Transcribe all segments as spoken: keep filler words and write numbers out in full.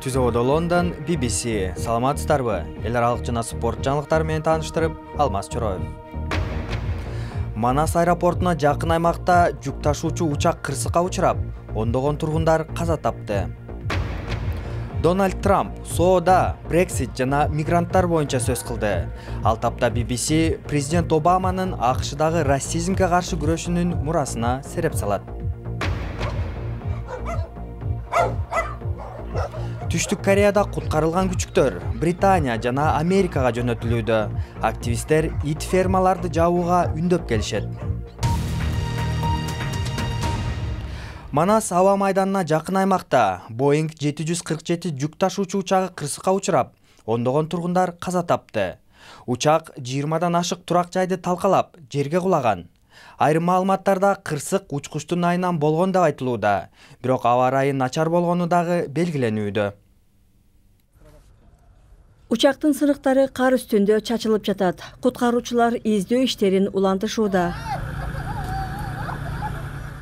Түзөөдө Лондон, би би си. Саламатсыздарбы? Эл аралык жана спорт жаңылыктары менен тааныштырып, Алмаз Чороев. Манас аэропортуна жакын аймакта жүк ташуучу учак кырсыкка учурап, ондогон тургундар каза тапты. Дональд Трамп соода, Брексит жана мигранттар боюнча сөз кылды. Ал тапта би би си президент Обаманын АКШдагы расизмге каршы күрөшүнүн мурасына сереп салат. Түштүк Кореяда куткарылган күчүктөр Британия жана Америкага жөнөтүлүүдө. Активисттер ит фермаларды жабууга үндөп келишет. Манас аба майданына жакын аймакта Боинг жети жүз кырк жети жүк ташуучу учагы кырсыкка учурап, ондогон тургундар каза тапты. Учак жыйырмадан ашык турак жайды талкалап, жерге кулаган. Айрым маалыматтарда кырсык учкучтун айынан болгон деп айтылууда, бирок аба ырайы начар болгону дагы белгиленүүдө. Учактын сыныктары кар үстүндө чачылып жатат. Куткаруучулар издөө иштерин улантышууда.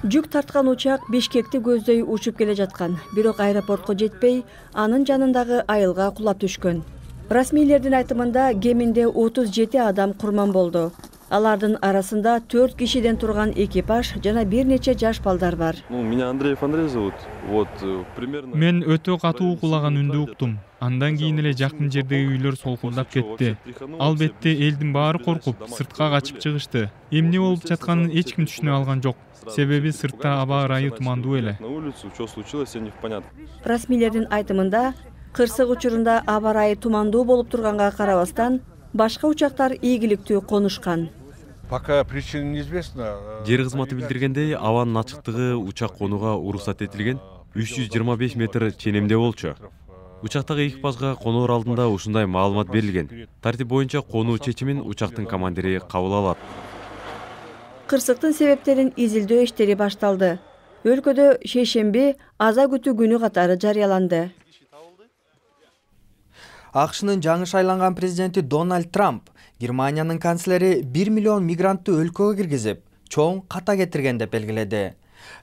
Жүк тарткан учак Бишкекти көздөй учуп келе жаткан, бирок аэропортко жетпей, анын жанындагы айылга кулап түшкөн. Расмийлердин айтымында кеминде отуз жети адам курман болду. Алардын арасында төрт кишиден турган экипаж жана бир нече жаш балдар бар. Мен өтө катуу кулаган үндү уктум. Андан кийин эле жакын жердеги үйлөр солкулдап кетти. Албетте элдин баары коркуп, сыртка качып чыгышты. Эмне болуп жатканын эч ким түшүнө алган жок. Себеби сыртта аба ырайы тумандуу эле. Расмийлердин айтымында, кырсык учурунда аба ырайы тумандуу болуп турганга карабастан, башка учактар ийгиликтүү конушкан. Жер кызматы билдиргендей, абанын ачыктыгы учак конууга уруксат этилген үч жүз жыйырма беш метр ченемде болчу. Учактагы экипажга коноор алдында ушундай маалымат берилген. Тартип боюнча конуу чечимин учактын командири кабыл алат. Кырсыктын себептерин изилдөө иштери башталды. Өлкөдө шейшемби аза күтүү күнү катары жарыяланды. АКШнын жаңы шайланган президенти Дональд Трамп Германиянын канцлери бир миллион мигрантты өлкөгө киргизип, чоң ката кетирген деп белгиледи.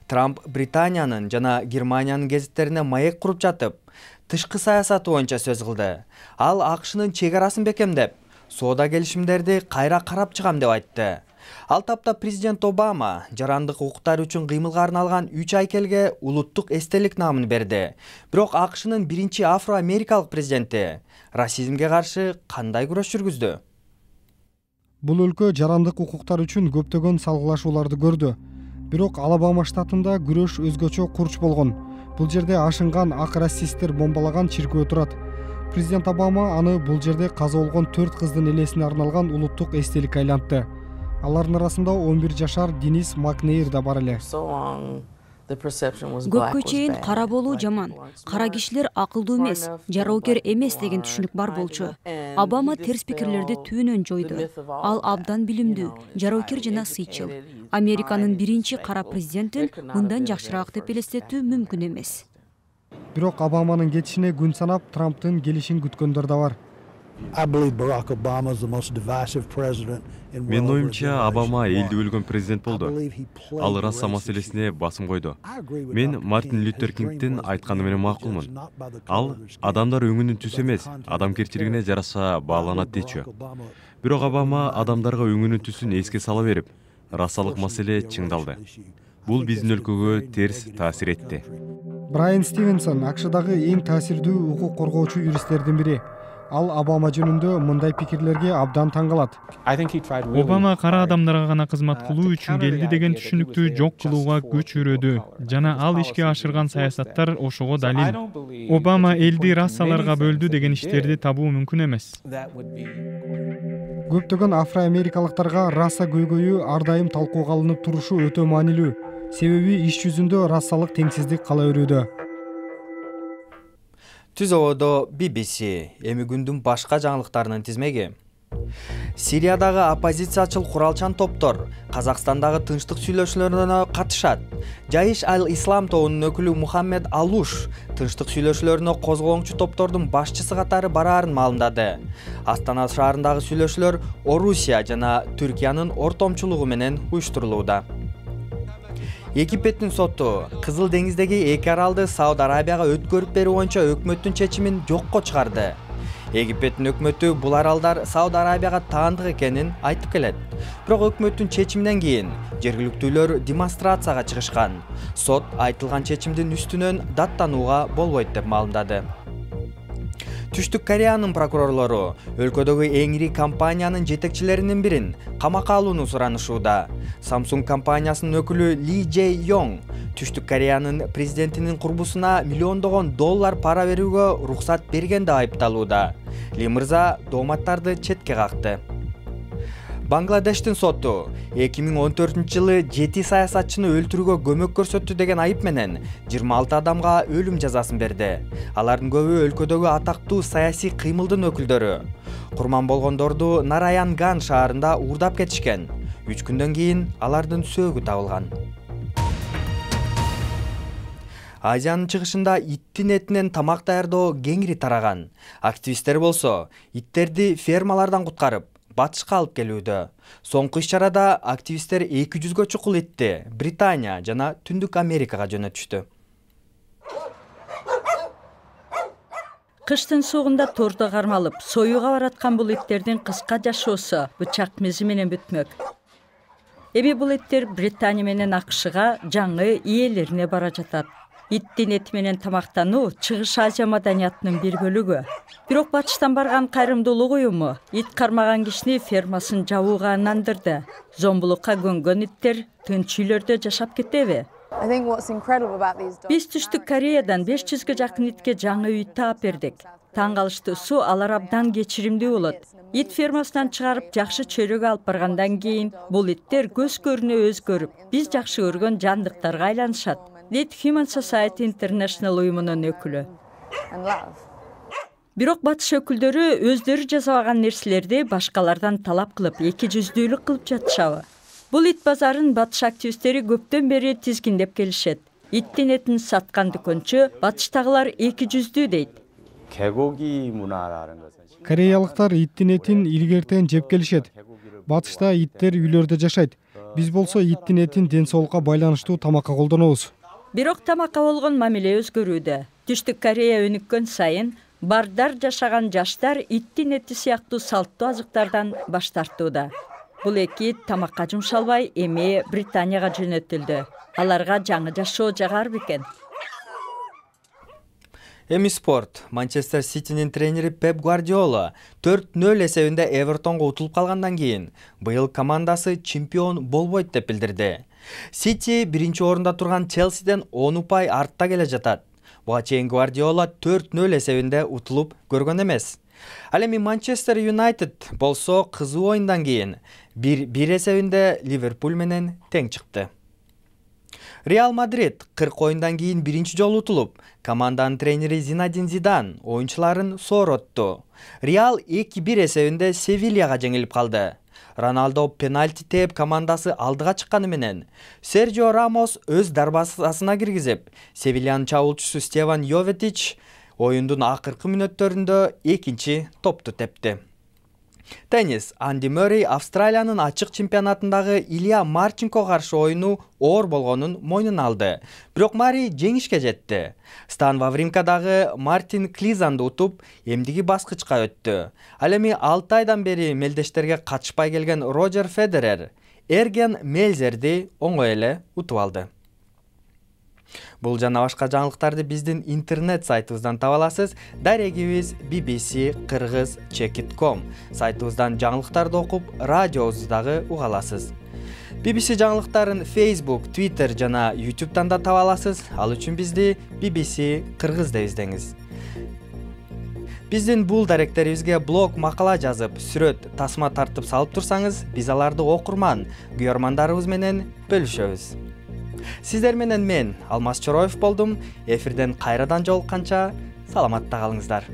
Трамп Британиянын жана Германиянын гезиттерине маек куруп жатып, тышкы саясаты боюнча сөз кылды. Ал АКШнын чек арасын бекемдеп, соода келишимдерди кайра карап чыгам деп айтты. Ал тапта президент Обама жарандык укуктар үчүн кыймылга арналган үч айкелге улуттук эстелик наамын берди. Бирок АКШнын биринчи афро-америкалык президенти расизмге каршы кандай күрөш жүргүздү? Бул өлкө жарандык укуктар үчүн көптөгөн салгылашууларды көрдү. Бирок Алабама штатында күрөш өзгөчө курч болгон. Бул жерде ашынган ак расисттер бомбалаган чиркөө турат. Президент Обама аны бул жерде каза болгон төрт кыздын элесине арналган улуттук эстелик айлантты. Алардын арасында он бир жашар Денис Макнейр да бар эле. Көпкө чейин кара болуу жаман, кара кишилер акылдуу эмес, жароокер эмес деген түшүнүк бар болчу. Обама терс пикирлерди түбүнөн жойду. Ал абдан билимдүү, жароокер жана сыйчыл. Американын биринчи кара президентин мындан жакшыраак деп элестетүү мүмкүн эмес. Бирок Обаманын кетишине күн санап, Трамптын келишин күткөндөр да бар. Менин оюмча, Обама элди бөлгөн президент болду. Ал раса маселесине басым койду. Мен Мартин Лютер Кингдин айтканы менен макулмун. Ал адамдар өңүнүн түсү эмес, адамгерчилигине жараша бааланат дечү. Бирок Обама адамдарга өңүнүн түсүн эске сала берип, расалык маселе чыңдалды. Бул биздин өлкөгө терс таасир этти. Брайан Стивенсон АКШдагы эң таасирдүү укук коргоочу юристтердин бири. Ал Обама жөнүндө мындай пикирлерге абдан таң калат. Обама кара адамдарга гана кызмат кылуу үчүн келди деген түшүнүктү жок кылууга күч үрөдү. Жана ал ишке ашырган саясаттар ошого далил. Обама элди расаларга бөлдү деген иштерди табуу мүмкүн эмес. Көптөгөн афро-америкалыктарга раса көйгөйү ар дайым талкууга алынып турушу өтө маанилүү. Себеби иш жүзүндө расалык теңсиздик кала берүүдө. Түзөөдө би би си. Эми күндүн башка жаңылыктарынын тизмеги. Сириядагы оппозициячыл куралчан топтор Казакстандагы тынчтык сүйлөшүүлөрүнө катышат. Жайыш аль-Ислам тобунун өкүлү Мухаммед Алуш тынчтык сүйлөшүүлөрүнө козголоңчу топтордун башчысы катары бараарын маалымдады. Астана шаарындагы сүйлөшүүлөр Орусия жана Түркиянын ортомчулугу менен уюштурулууда. Египеттин соту Кызыл деңиздеги эки аралды Сауд Арабияга өткөрүп берүү боюнча өкмөттүн чечимин жокко чыгарды. Египеттин өкмөтү бул аралдар Сауд Арабияга таандык экенин айтып келет. Бирок өкмөттүн чечиминен кийин жергиликтүүлөр демонстрацияга чыгышкан. Сот айтылган чечимдин үстүнөн даттанууга болбойт деп маалымдады. Түштүк Кореянын прокурорлору өлкөдөгү эң ири компаниянын жетекчилеринин бирин камакка алууну суранышууда. Samsung компаниясынын өкүлү Ли Джей Йонг Түштүк Кореянын президентинин курбусуна миллиондогон доллар пара берүүгө уруксат берген деп айыпталууда. Ли мырза дооматтарды четке какты. Бангладештин соту эки миң он төртүнчү жылы жети саясатчыны өлтүрүүгө көмөк көрсөттү деген айып менен жыйырма алты адамга өлүм жазасын берди. Алардын көбү өлкөдөгү атактуу саясий кыймылдын өкүлдөрү. Курман болгондорду Нараянган шаарында уурдап кетишкен. үч күндөн кийин алардын сөөгү табылган. Азиянын чыгышында иттин этинен тамак даярдоо кеңири тараган. Активисттер болсо иттерди фермалардан куткарып батышка алып келүүдө. Соңку иш-чарада активисттер эки жүзгө чукул итти Британия жана Түндүк Америкага жөнөтүштү. Кыштын суугунда тордо кармалып, союуга бараткан бул иттердин кыска жашоосу бычак мизи менен бүтмөк. Эми бул иттер Британия менен АКШга жаңы ээлерине бара жатат. Иттин эти менен тамактануу Чыгыш Азия маданиятынын бир бөлүгү. Бирок батыштан барган кайрымдуулук уюму ит кармаган кишини фермасын жабууга ынандырды. Зомбулукка көнгөн иттер тынч үйлөрдө жашап кетеби? Биз Түштүк Кореядан беш жүзгө жакын итке жаңы үй таап бердик. Таң калыштуусу алар абдан кечиримдүү болот. Ит фермасынан чыгарып жакшы чөйрөгө алып баргандан кийин бул иттер көз көрүнө өзгөрүп, биз жакшы көргөн жандыктарга айланышат. дейт Human Society International уюмунун өкүлү. Бирок батыш өкүлдөрү өздөрү жасабаган нерселерди башкалардан талап кылып, эки жүздүүлүк кылып жатышабы? Бул ит базарын батыш активисттери көптөн бери тизгиндеп келишет. Иттин этин саткан дүкөнчү батыштагылар эки жүздүү дейт. Кореялыктар иттин этин илгертен жеп келишет. Батышта иттер үйлөрдө жашайт. Биз болсо иттин этин ден соолукка байланыштуу тамакка колдонобуз. Бирок тамакка болгон мамиле өзгөрүүдө. Түштүк Корея өнүккөн сайын бардар жашаган жаштар иттин эти сыяктуу салттуу азыктардан баш тартууда. Бул эки ит тамакка жумшалбай эми Британияга жөнөтүлдү. Аларга жаңы жашоо жагар бекен. Эми спорт. Манчестер Ситинин тренери Пеп Гвардиола төрт нөл эсебинде Эвертонго утулуп калгандан кийин быйыл командасы чемпион болбойт деп билдирди. Сити биринчи орунда турган Челсиден он упай артта келе жатат. Буга чейин Гвардиола төрт нөл эсебинде утулуп көргөн эмес. Ал эми Манчестер Юнайтед болсо кызуу оюндан кийин бир бир эсебинде Ливерпуль менен тең чыкты. Реал Мадрид кырк оюндан кийин биринчи жолу утулуп, команданын тренери Зинадин Зидан оюнчуларын сооротту. Реал эки бир эсебинде Севильяга жеңилип калды. Роналдо пенальти тээп командасы алдыга чыкканы менен Серджио Рамос өз дарбазасына киргизип, Севильянын чабуулчусу Стефан Йоветич оюндун акыркы мүнөттөрүндө экинчи топту тепти. Теннис. Анди Мөррей Австралиянын ачык чемпионатындагы Илья Марченко каршы оюну оор болгонун мойнуна алды. Бирок Мари жеңишке жетти. Стан Вавримкадагы Мартин Клизанды утуп, эмдиги баскычка өттү. Ал эми алты айдан бери мелдештерге катышпай келген Роджер Федерер Эрген Мельзерди оңой эле утуп алды. Бул жана башка жаңылыктарды биздин интернет сайтыбыздан таба аласыз. Дарегибиз би би си кыргыз чекит точка ком. Сайтыбыздан жаңылыктарды окуп, радиобузду дагы уга аласыз. би би си жаңылыктарын Facebook, Twitter жана YouTube'дан да таба аласыз. Ал үчүн бизди би би си кыргыз деп издеңиз. Биздин бул даректерибизге блог, макала жазып, сүрөт, тасма тартып салып турсаңыз, биз аларды окурман, күйөрмандарыбыз менен бөлүшөбүз. Сиздер менен мен Алмаз Чороев болдум. Эфирден кайрадан жолукканча саламатта калыңыздар.